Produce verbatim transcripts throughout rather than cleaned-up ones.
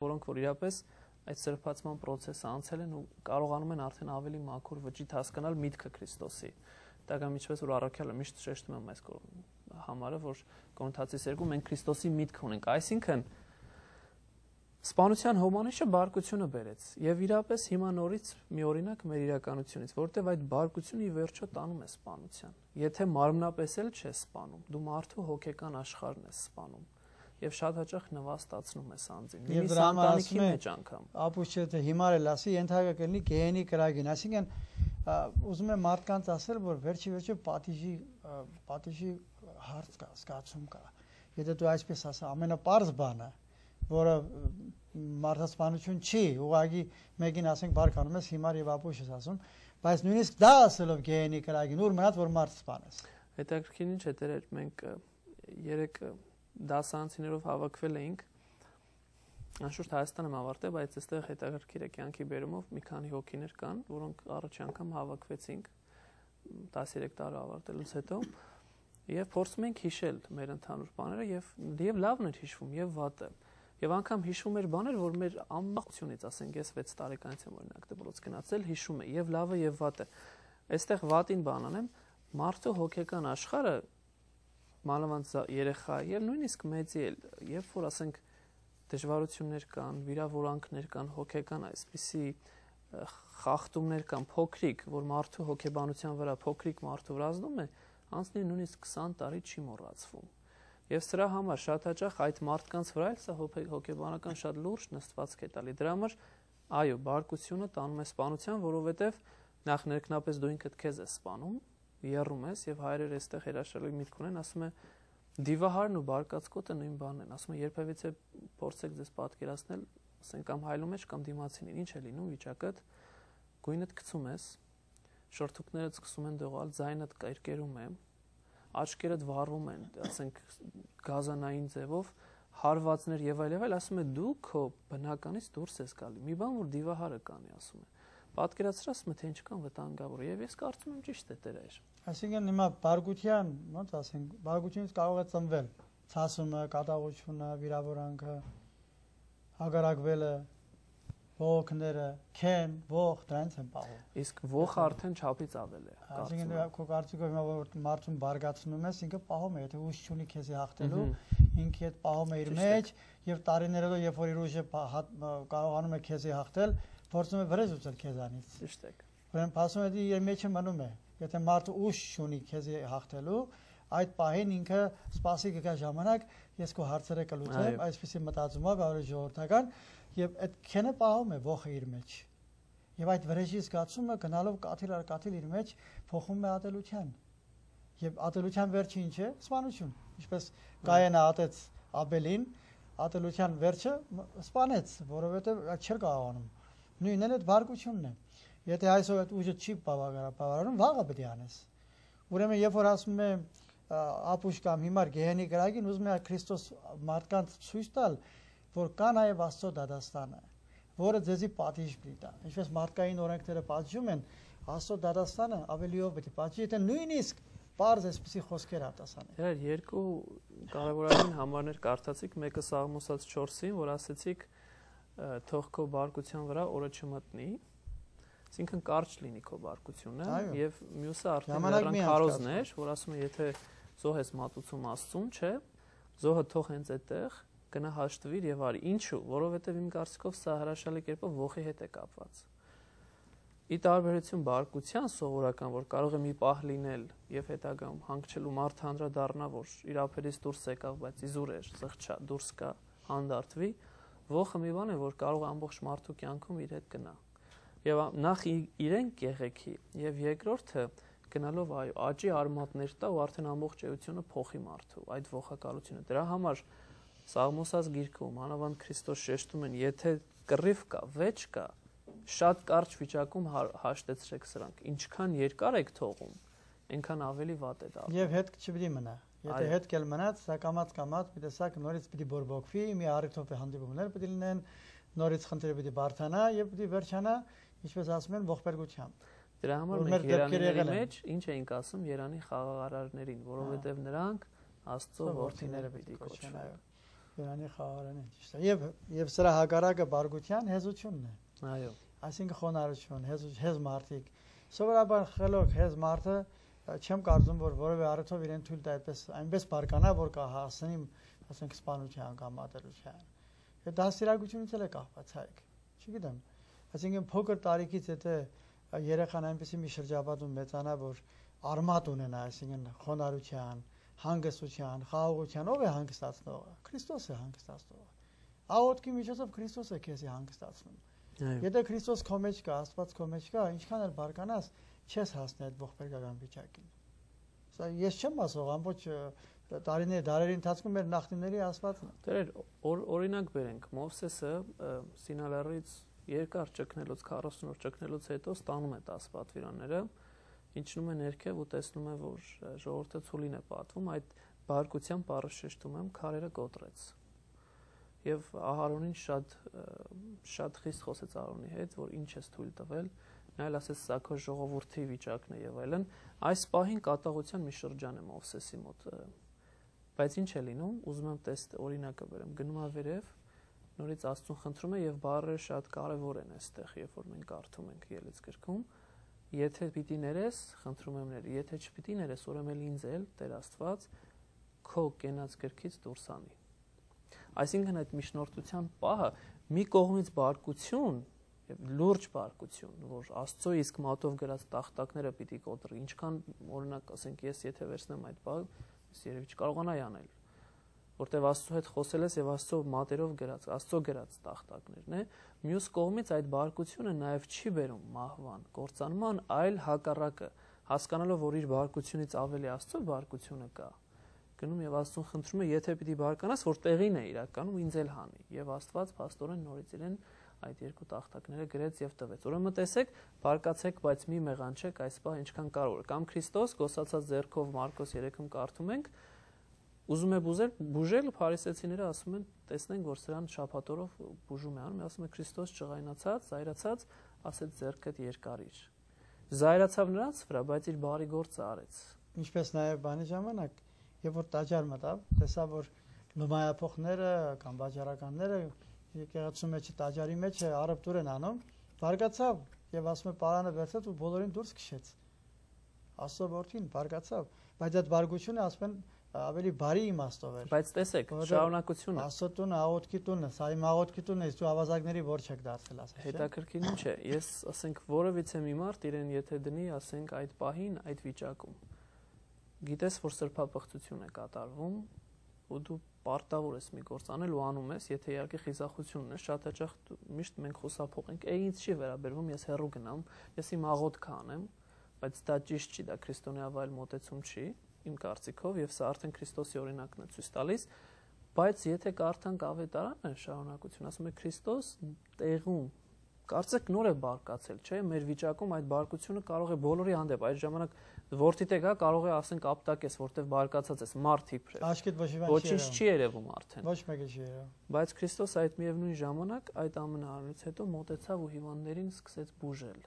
որոնք որ իրապես այդ սրբացման process-ը անցել են ու կարողանում են արդեն ավելի մաքուր վճիտ հասկանալ միտքը Քրիստոսի։ Դակամ ինչպես որ առաքյալը միշտ շեշտում եմ այս համարը, որ Կորինթացիս երկու մենք Քրիստոսի միտք ունենք, այսինքն սպանության հոմանիշը բարկությունը բերեց եւ իրապես հիմա նորից մի օրինակ մեր իրականությունից, որտեղ այդ բարկությունը ի վերջո տանում է սպանության։ Եթե մարմնապես էլ չես սպանում, դու մարդու հոգեկան աշխարհն ես սպանում եւ շատ հաճախ նվաստացնում ես անձին։ Եվ ընտանիքի մեջ անգամ։ Ապուշը թե հիմար էլ ասի, ենթակա կլինի գեհենի կրագին, այսինքն ուզում եմ մարդկանց ասել, որ վերջի վերջո պատիժի պատիժի հարց կա, զգացում կա։ Եթե դու այսպես ասա, ամենապարզ բանը, որը մարդասպանություն չի, ուղղակի մեկին ասենք բարկանում ես հիմար եւ ապուշ ես ասում, բայց նույնիսկ դա ասելով գեհենի կրագին, ուր մնաց որ մարդ սպանես։ Հետաքրքիր ինչ է դեր մենք երեք դասարանցիներով հավաքվել էինք, անշուշտ Հայաստանում ավարտել, բայց այստեղ հետաքրքիր է կյանքի բերումով մի քանի հոգիներ կան, որոնք առաջի անգամ հավաքվեցինք տասներեք տարի ավարտելուց հետո եւ փորձում ենք հիշել մեր ընդհանուր բաները եւ եւ լավն էր հիշվում եւ վատը։ Եվ անգամ հիշում էր բաներ, որ մեր ամբողջությունից, ասենք, ես վեց տարեկանից եմ օրինակ դպրոց գնացել, հիշում է եւ լավը եւ վատը։ Այստեղ վատին բան անեմ, մարդու հոգեկան աշխարհը մանավանդ երեխա եւ նույնիսկ մեծի էլ, երբ որ ասենք դժվարություններ կան, վիրավորանքներ կան, հոգեկան այսպիսի խախտումներ կան, փոքրիկ, որ մարդու հոգեբանության վրա փոքրիկ մարդու վրա ազդում է, անցնի նույնիսկ քսան տարի չի մոռացվում։ Եվ սրա համար շատ հաճախ այդ մարդկանց վրա էլ սա հոգեբանական շատ լուրջ նստվածք է տալի։ Դրա համար այո, բարկությունը տանում է սպանության, որովհետև նախ ներքնապես դու ինքդ քեզ ես սպանում, եռում ես եւ հայրերը այստեղ հրաշալի միտք ունեն, ասում է դիվահարն ու բարկացկոտը նույն բանն են, ասում է երբևիցե փորձեք ձեզ պատկերացնել, ասենք կամ հայլու մեջ կամ դիմացինին, ինչ է լինում վիճակը, գույնդ գցում ես, շորթուկներդ սկսում են դողալ, ձայնդ կերկերում է, աչքերդ վառվում են, ասենք գազանային ձևով, հարվածներ եւ այլ եւ այլ, ասում է դու քո բնականից դուրս ես գալի։ Մի բան որ դիվահարը կանի, ասում է։ Պատկերացրած ասում է թե ինչ կան վտանգավոր եւ ես կարծում եմ ճիշտ է դեր։ Այսինքն հիմա բարգության, ոնց ասենք, բարգությունից կարող է ծնվել ցասումը, կատաղությունը, վիրավորանքը, հագարակվելը, ողոքները, քեն, ողջ դրանց են պահում։ Իսկ ողը արդեն չափից ավել է։ Այսինքն քո կարծիքով հիմա որ մարդուն բարգացնում ես, ինքը պահում է, եթե ուժ չունի քեզի հաղթելու, ինքը այդ պահում է իր մեջ եւ տարիներով երբ որ իր ուժը կարողանում է քեզի հաղթել, փորձում է վրեժ ուծել քեզանից։ Ճիշտ է։ Ուրեմն փասում է իր մեջը մնում է։ Եթե մարդը ուժ չունի քեզի հաղթելու, այդ պահին ինքը սպասի կգա ժամանակ, ես քո հարցերը կլուծեմ, այսպեսի մտածումով ավելի ժողովրդական եւ այդ քենը պահում է ողը իր մեջ։ Եվ այդ վրեժի զգացումը գնալով կաթիլ առ կաթիլ իր մեջ փոխում է ատելության։ Եվ ատելության վերջը ինչ է? Սպանություն։ Ինչպես Կայենը ատեց Աբելին, ատելության վերջը սպանեց, որովհետեւ այդ չէր կարողանում։ Նույնն էլ այդ բարկությունն է։ Եթե այսօր այդ ուժը չի բավարարում, վաղը պետք է անես։ Ուրեմն երբ որ ասում է ապուշ կամ հիմար գեհենի կրակին, ուզում է Քրիստոս մարդկանց ցույց տալ, որ կա նաև Աստծո դատաստանը, որը ձեզի պատիժ պիտի տա։ Ինչպես մարդկային օրենքները պատժում են, Աստծո դատաստանը ավելիով պետք է պատժի, եթե նույնիսկ բարձ էսպիսի խոսքեր արտասանեն։ Դեր երկու կարևորագույն համարներ կարդացիք, մեկը Սաղմոսած չորսին, որ ասեցիք թող քո բարկության վրա օրը չմտնի, այսինքն կարճ լինի քո բարկությունը, եւ մյուսը արդեն նրան քարոզն էր, որ ասում է եթե զոհ ես մատուցում Աստծուն, չէ, զոհը թող հենց այդտեղ գնա հաշտվիր եւ արի։ Ինչու՞, որովհետեւ իմ կարծիքով սա հրաշալի կերպով ողի հետ է կապված։ Ի տարբերություն բարկության սովորական, որ կարող է մի պահ լինել եւ հետագայում հանգչելու մարդ հանդրադառնա, որ իր ափերից դուրս եկավ, բայց իզուր էր, զղջա, դուրս կա, հանդարտվի, ողը մի բան է, որ կարող է ամբողջ մարդու կյանքում իր հետ գնա։ Եվ նախ իրեն կեղեքի եւ երկրորդը գնալով այո աճի արմատներ տա ու արդեն ամբողջ էությունը փոխի մարդու այդ ողակալությունը։ Դրա համար Սաղմոսած գիրքում մանավանդ Քրիստոս շեշտում են, եթե կռիվ կա, վեճ կա, շատ կարճ վիճակում հաշտեցրեք սրանք, ինչքան երկար եք թողում, այնքան ավելի վատ է դառնում։ Եվ հետ չպիտի մնա։ Եթե հետ կել մնաց, սա կամած կամած պիտի սա նորից պիտի բորբոքվի, մի առիթով հանդիպումներ պիտի լինեն, նորից խնդիրը պիտի բարթանա եւ պիտի վերջանա, ինչպես ասում են, ողբերգությամբ։ Դրա համար մենք Երանիների մեջ ինչ էինք ասում Երանի խաղաղարարներին, որովհետեւ նրանք Աստծո որդիները պիտի կոչվեն։ Իրանի խաղարանը ճիշտ է։ Եվ եւ սրա հակառակը բարգության հեզությունն է։ Այո։ Այսինքն խոնարհություն, հեզ հեզ մարդիկ։ Սովորաբար խելոք հեզ մարդը չեմ կարծում, որ որևէ առիթով իրեն թույլ տա այդպես այնպես բարկանա, որ կա հասնի, ասենք սպանության կամ ատելության։ Այդ դաստիարակությունից էլ է կախված հայք։ Չգիտեմ։ Այսինքն փոքր տարիքից եթե երեխան այնպեսի մի շրջապատում մեծանա, որ արմատ ունենա, այսինքն խոնարհության, հանգստության, խաղաղության, ով է հանգստացնողը։ Քրիստոս է հանգստացնողը։ Աղոթքի միջոցով Քրիստոս է քեզ հանգստացնում։ Եթե Քրիստոս քո մեջ կա, Աստված քո մեջ կա, ինչքան էլ բարկանաս, չես հասնի այդ ողբերգական վիճակին։ Սա ես չեմ ասող, ամբողջ տարիների դարերի ընթացքում մեր նախնիների ասվածն է։ Դեր օրինակ բերենք, Մովսեսը Սինալարից երկար ճգնելուց քառասուն օր ճգնելուց հետո ստանում է տասը պատվիրանները, իջնում է ներքև ու տեսնում է, որ ժողովուրդը ցուլին է պատվում, այդ բարկության բառը շեշտում եմ, քարերը կոտրեց։ Եվ Ահարոնին շատ շատ խիստ խոսեց Ահարոնի հետ, որ ինչ ես թույլ տվել, նա էլ ասեց սա քո ժողովրդի վիճակն է եւ այլն։ Այս պահին կատաղության մի շրջան է Մովսեսի մոտ։ Բայց ինչ է լինում, ուզում եմ տեստ օրինակը բերեմ, գնում է վերև, նորից Աստծուն խնդրում է եւ բառերը շատ կարեւոր են այստեղ, երբ որ մենք կարդում ենք ելից գրքում։ Եթե պիտի ներես, խնդրում եմ ներ, եթե չպիտի ներես, ուրեմն ինձ էլ Տեր Աստված քո կենաց գրքից դուրս անի։ Այսինքն այդ միջնորդության պահը մի կողմից բարկություն եւ լուրջ բարկություն, որ Աստծո իսկ մատով գրած տախտակները պիտի կոտրի, ինչքան օրինակ ասենք ես եթե վերցնեմ այդ բանը, ես երևի չկարողանայի անել, որտեվ Աստծո հետ խոսել ես եւ Աստծո մատերով գրած, Աստծո գրած տախտակներն է, մյուս կողմից այդ բարկությունը նաեւ չի բերում մահվան, կործանման, այլ հակառակը, հասկանալով, որ իր բարկությունից ավելի Աստծո բարկությունը կա, գնում եւ Աստծուն խնդրում է, եթե պիտի բարկանաս, որ տեղին է իրականում ինձ էլ հանի, եւ Աստված փաստորեն նորից իրեն այդ երկու տախտակները գրեց եւ տվեց։ Ուրեմն տեսեք, բարկացեք, բայց մի մեղանչեք, այս բան ինչքան կարող է։ Կամ Քրիստոս գոսացած ձեռքով Մարկոս երեքում կարդում ենք, ուզում է բուժել, բուժել փարիսեցիները ասում են, տեսնենք, որ սրան շաբաթօրով բուժում է անում, ասում է Քրիստոս ճղայնացած, զայրացած, ասեց ձեռքդ երկարիր։ Զայրացավ նրանց վրա, բայց իր բարի գործը արեց։ Ինչպես նաեւ բանի ժամանակ, երբ որ տաճար մտավ, տեսա, որ լումայափոխները կամ վաճառականները եկեղեցու մեջ տաճարի մեջ առևտուր են անում, բարգացավ եւ ասում է պարանը վերցրեց ու բոլորին դուրս քշեց։ Աստծո որդին բարգացավ, բայց այդ բարգությունը ասում են ավելի բարի իմաստով էր։ Բայց տեսեք, շարունակությունը Աստծո տունը, աղոթքի տունը, սա իմ աղոթքի տունն է, դու ավազակների ворջ եք դարձել, ասես։ Հետաքրքիր ինչ է, ես ասենք որևիցե մի մարդ իրեն եթե դնի, ասենք այդ պահին, այդ վիճակում, գիտես, որ սրբապղծություն է կատարվում, ու դու պարտավոր ես մի գործ անել ու անում ես, եթե իհարկե խիզախություն ունես, շատ հաճախ միշտ մենք խուսափող ենք, է ինձ չի վերաբերվում, ես հեռու գնամ, ես իմ աղոթքը անեմ, բայց դա ճիշտ չի, դա քրիստոնեավայել մոտեցում չի, իմ կարծիքով, եւ սա արդեն Քրիստոսի օրինակն է ցույց տալիս, բայց եթե կարդանք Ավետարանը շարունակություն, ասում է Քրիստոս տեղում, կարծեք նոր է բարկացել, չէ՞, մեր վիճակում այդ բարկությունը կարող է բոլորի հանդեպ, այդ ժամանակ որդիդ եկա կարող է ասենք ապտակես, որտեվ բարկացած ես, մարդ իբրև։ Աշկիդ ոչինչ չի երևում արդեն։ Ոչ մեկը չի երևում։ Բայց Քրիստոս այդ միևնույն ժամանակ այդ ամենարանից հետո մոտեցավ ու հիվանդներին սկսեց բուժել։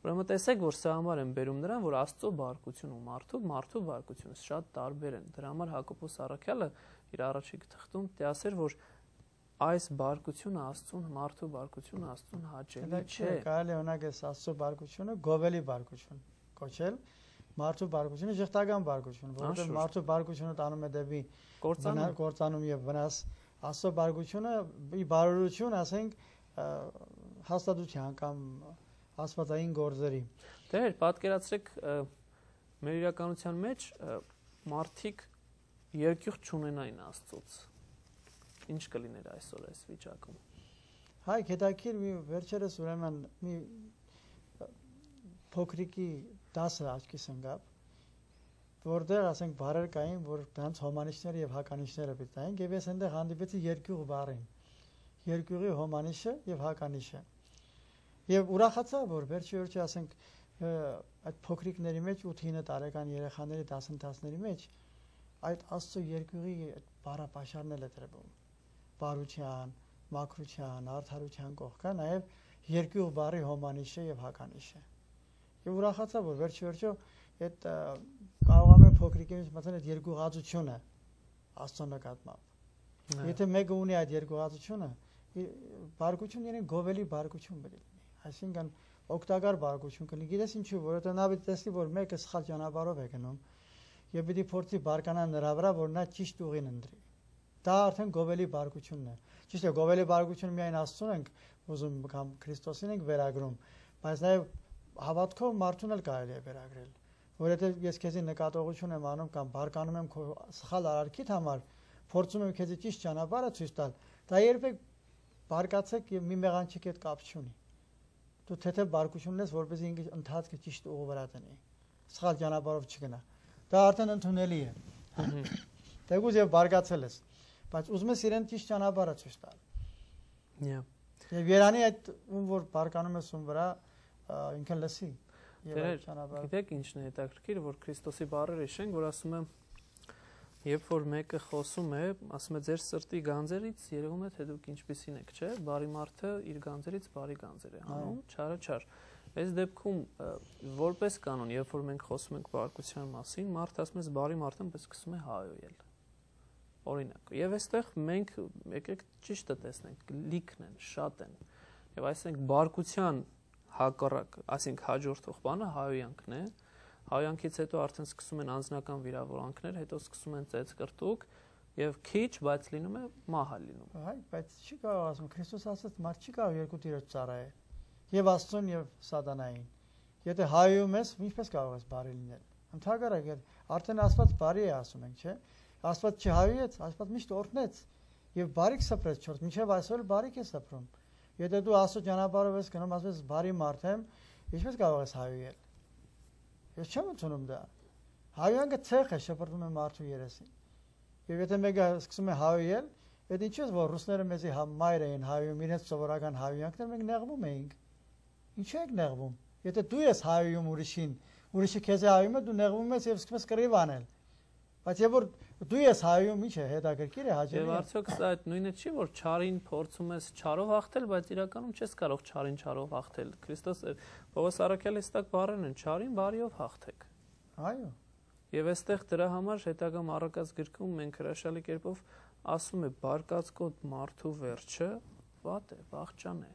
Ուրեմն տեսեք, որ սա համար են բերում նրան, որ Աստծո բարկությունը ու մարդու մարդու բարկությունը շատ տարբեր են։ Դրա համար Հակոբոս Առաքյալը իր առաջին թղթում դասեր, որ այս բարկությունը Աստծուն, մարդու բարկությունը Աստծուն հաճելի չէ։ Կարելի է օրինակ այս Աստծո բարկությունը գովելի բարկություն կոչել, մարդու բարկությունը ժխտական բարկություն, որովհետև մարդու բարկությունը տանում է դեպի կործանում եւ վնաս, Աստծո բարկությունը ի բարօրություն, ասենք, հաստատության կամ աստվածային գործերի։ Դեր պատկերացրեք մեր իրականության մեջ մարդիկ երկյուղ չունենային Աստծոց։ Ինչ կլիներ այսօր այս վիճակում։ Հայք հետաքրիր մի վերջերս ուրեմն մի փոքրիկի դասը աչքիս ընկավ, որտեղ ասենք բարեր կային, որ դրանց հոմանիշները եւ հականիշները պետք էին, եւ ես այնտեղ հանդիպեցի երկյուղ բառին։ Երկյուղի հոմանիշը եւ հականիշը։ Եւ ուրախացա, որ վերջի վերջի ասենք այդ փոքրիկների մեջ ութ-ինը տարեկան երեխաների դասընթացների մեջ այդ Աստծո երկյուղի բառապաշարն էլ է տրվում։ Բարության, մաքրության, արդարության կողքա նաեւ երկյուղ բառի հոմանիշը եւ հականիշը։ Եվ ուրախացա, որ վերջի վերջո այդ կարողանում եմ փոքրիկի մեջ մտնել այդ երկյուղածությունը Աստծո նկատմամբ։ Եթե մեկը ունի այդ երկուածությունը, բարգություն իրեն գովելի բարգություն բերի լինի։ Այսինքն օգտակար բարգություն կլինի։ Գիտես ինչու, որովհետև նա պիտի տեսնի, որ մեկը սխալ ճանապարհով է գնում, եւ պիտի փորձի բարկանալ նրա վրա, որ նա ճիշտ ուղին ընտրի։ Դա արդեն գովելի բարգությունն է։ Ճիշտ է, գովելի բարգությունը միայն Աստծուն ենք ուզում կամ Քրիստոսին ենք վերագրում, բայց նաեւ հավատքով մարդուն էլ կարելի է վերագրել, որովհետև ես քեզի նկատողություն եմ անում կամ բարկանում եմ քո սխալ արարքիդ համար, փորձում եմ քեզի ճիշտ ճանապարհը ցույց տալ, դա երբեք բարկացեք եւ մի մեղանչի հետ կապ չունի։ Դու թեթև բարկություն ես, որպեսզի ինքը ընթացքը ճիշտ ուղու վրա դնի, սխալ ճանապարհով չգնա։ Դա արդեն ընդունելի է։ Դեգուզ եւ բարկացել ես, բայց ուզում ես իրեն ճիշտ ճանապարհը ցույց տալ։ Yeah. Եվ Երանի այդ ում որ բարկանում ես ում վրա ինքը լսի։ Գիտեք ինչն է հետաքրքիր, որ Քրիստոսի բառերը հիշենք, որ ասում է, երբ որ մեկը խոսում է, ասում է ձեր սրտի գանձերից երևում է թե դուք ինչպիսին եք, չէ՞, բարի մարդը իր գանձերից բարի գանձեր է անում, չարը չար։ Այս դեպքում որպես կանոն, երբ որ մենք խոսում ենք բարկության մասին, մարդը ասում է բարի մարդը պես սկսում է հայոյել։ Օրինակ, եւ այստեղ մենք եկեք ճիշտը տեսնենք, լիքն են, շատ են։ Եվ այսինքն բարկության հակառակ, այսինքն հաջորդող բանը հայոյանքն է։ Հայոյանքից հետո արդեն սկսում են անձնական վիրավորանքներ, հետո սկսում են ծեծկրտուկ եւ քիչ, բայց լինում է մահը լինում։ Այ, բայց չի կարող ասում Քրիստոս ասաց, մարդ չի կարող երկու տիրոջ ծառայել։ Եվ Աստծուն եւ Սատանային։ Եթե հայոյում ես, ինչպես կարող ես բարի լինել։ Ընդհանրապես, արդեն Աստված բարի է ասում ենք, չէ՞։ Աստված չհայոյեց, Աստված միշտ օրհնեց եւ բարիք սփռեց չորս, մինչեւ այսօր բարիք է սփռում։ Եթե դու Աստծո ճանապարհով ես գնում, ասես բարի մարդ եմ, ինչպես կարող ես հայոյել։ Ես չեմ ընդունում դա։ Հայոյանքը ցեղ է, շփոթում է մարդու երեսին։ Եվ եթե մեկը սկսում է հայոյել, այդ ինչու է որ ռուսները մեզի մայր էին հայոյում, իրենց սովորական հայոյանքներ մենք նեղվում էինք։ Ինչու եք նեղվում։ Եթե դու ես հայոյում ուրիշին, ուրիշը քեզ է հայոյում, դու նեղվում ես եւ սկսում ես կռիվ անել։ Բայց եւ որ դու ես հայոյում, ինչ է հետաքրքիր է հաջողի։ Եվ արդյոք սա այդ նույնը չի, որ չարին փորձում ես չարով հաղթել, բայց իրականում չես կարող չարին չարով հաղթել։ Քրիստոս Պողոս առաքյալի ստակ բառերն են՝ չարին բարիով հաղթեք։ Այո։ Եվ այստեղ դրա համար հետագա Մառակած գրքում մենք հրաշալի կերպով ասում է բարկացկոտ մարդու վերջը վատ է, վախճան է։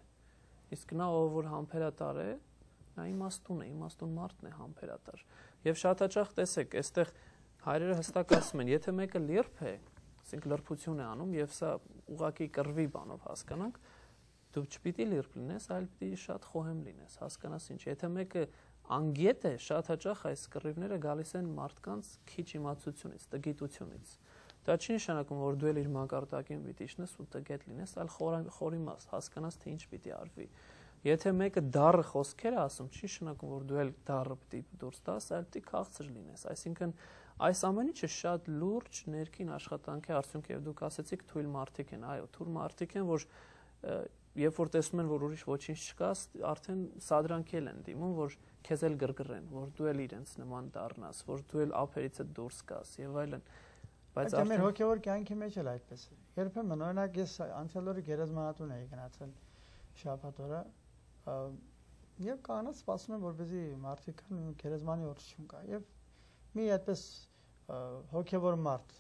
Իսկ նա ով որ համբերատար է, նա իմաստուն է, իմաստուն մարդն է համբերատար։ Եվ շատ հաճախ տեսեք, այստեղ հայրերը հստակ ասում են, եթե մեկը լիրբ է, ասենք լրբություն է անում եւ սա ուղակի կռվի բանով հասկանանք, դու չպիտի լիրբ լինես, այլ պիտի շատ խոհեմ լինես, հասկանաս ինչ։ Եթե մեկը անգետ է, շատ հաճախ այս կռիվները գալիս են մարդկանց քիչ իմացությունից, տգիտությունից։ Դա չի նշանակում, որ դու էլ իր մակարդակին պիտի իջնես ու տգետ լինես, այլ խորիմաս, հասկանաս թե ինչ պիտի արվի։ Եթե մեկը դառը խոսքեր է ասում, չի նշանակում, որ դու էլ դառը պիտի դուրս տաս, այլ պիտի քաղցր լինես։ Այսինքն այս ամեն ինչը շատ լուրջ ներքին աշխատանքի արդյունք է եւ դուք ասեցիք թույլ մարդիկ են, այո, թույլ մարդիկ են, որ երբ որ տեսնում են, որ ուրիշ ոչինչ չկա, արդեն սադրանքել են դիմում, որ քեզ էլ գրգռեն, որ դու էլ իրենց նման դառնաս, որ դու էլ ափերիցդ դուրս գաս եւ այլն։ Բայց մեր հոգեոր կյանքի մեջ էլ այդպես է։ Երբեմն օրինակ ես անցյալ օրը գերեզմանատուն էի գնացել շաբաթ օրը եւ կանաց սպասում եմ որպեսզի մարդիկ գերեզմանի օծություն կա եւ մի այդպես հոգեոր մարդ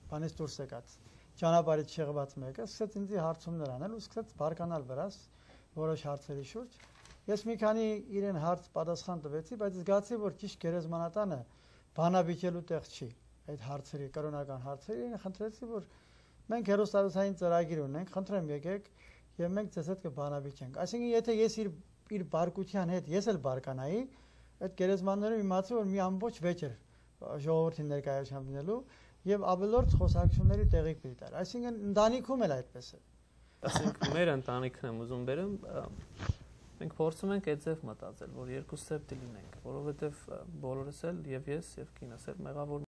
բանից դուրս եկած ճանապարհից շեղված մեկը սկսեց ինձ հարցումներ անել ու սկսեց բարկանալ վրաս որոշ հարցերի շուրջ ես մի քանի իրեն հարց պատասխան տվեցի բայց զգացի որ ճիշտ գերեզմանատանը բանաբիջելու տեղ չի այդ հարցերի կրոնական հարցերի խնդրեցի որ մենք հերոստատուսային ծրագիր ունենք խնդրեմ եկեք եւ մենք ձեզ հետ կբանաբիջենք այսինքն եթե ես իր իր բարկության հետ ես էլ բարկանայի այդ գերեզմաններում իմացի որ մի ամբողջ վեճեր ժողովրդի ներկայությամբ լինելու եւ ավելորդ խոսակցությունների տեղիք պիտի տար այսինքն ընտանիքում էլ այդպես է այսինքն մեր ընտանիքն եմ ուզում բերեմ մենք փորձում ենք այդ ձև մտածել որ երկուսս էլ լինենք որովհետեւ բոլորս էլ եւ ես եւ կինս էլ մեղավոր